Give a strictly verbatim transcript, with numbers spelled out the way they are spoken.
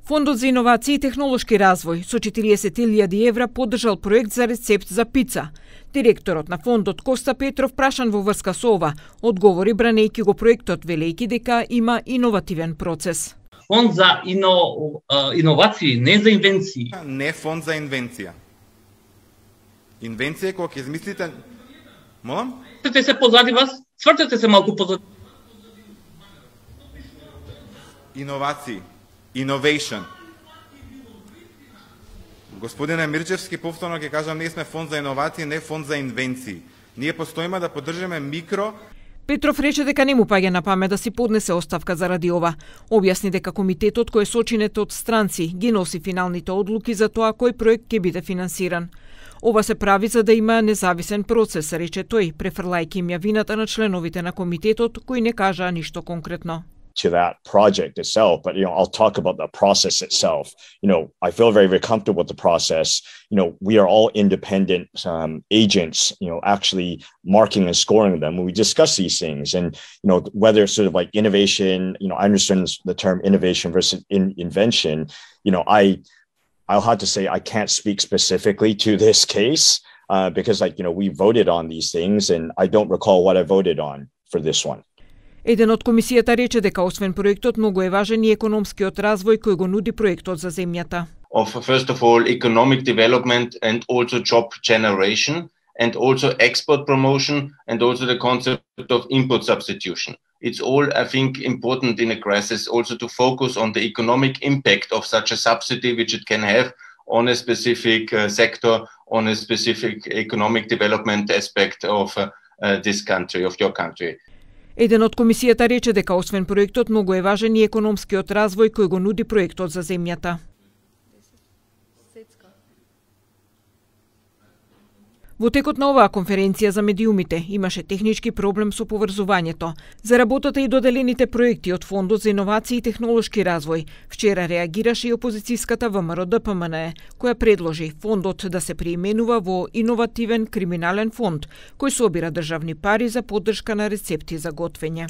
Фондот за иновации и технолошки развој со четириесет илјади евра поддржал проект за рецепт за пица. Директорот на фондот Коста Петров, прашан во врска со ова, одговори бранејќи го проектот, велејќи дека има иновативен процес. Фонд за ино, иновации, не за инвенции. Не фонд за инвенција. Инвенција е кога ќе измислите... Молам? Свртете се позади вас, свртете се малку позади. Иновации. Innovation. Господине Мирчевски, повторно ќе кажам, ние сме фонд за иновации, не фонд за инвенции. Ние постоиме да поддржаме микро. Петров рече дека не му паѓа на памет да си поднесе оставка заради ова. Објасни дека комитетот кој е сочинет од странци ги носи финалните одлуки за тоа кој проект ќе биде финансиран. Ова се прави за да има независен процес, рече тој, префрлајќи им ја вината на членовите на комитетот кои не кажаа ништо конкретно. To that project itself, but you know, I'll talk about the process itself. You know, I feel very, very comfortable with the process. You know, we are all independent um, agents. You know, actually marking and scoring them when we discuss these things, and you know, whether it's sort of like innovation. You know, I understand the term innovation versus in invention. You know, I, I'll have to say I can't speak specifically to this case uh, because, like, you know, we voted on these things, and I don't recall what I voted on for this one. Еден од комисијата рече дека освен проектот многу е важен и економскиот развој кој го нуди проектот за земјата. Of first of all economic development and also job generation and also export promotion and also the concept of import substitution. It's all, I think, important in a crisis also to focus on the economic impact of such a subsidy which it can have on a specific uh, sector, on a specific economic development aspect of uh, uh, this country, of your country. Еден од комисијата рече дека освен проектот многу е важен и економскиот развој кој го нуди проектот за земјата. Во текот на оваа конференција за медиумите имаше технички проблем со поврзувањето. За работата и доделените проекти од Фондот за иновации и технолошки развој вчера реагираше и опозицијската ВМРО-ДПМНЕ, која предложи фондот да се преименува во иновативен криминален фонд, кој собира државни пари за поддршка на рецепти за готвење.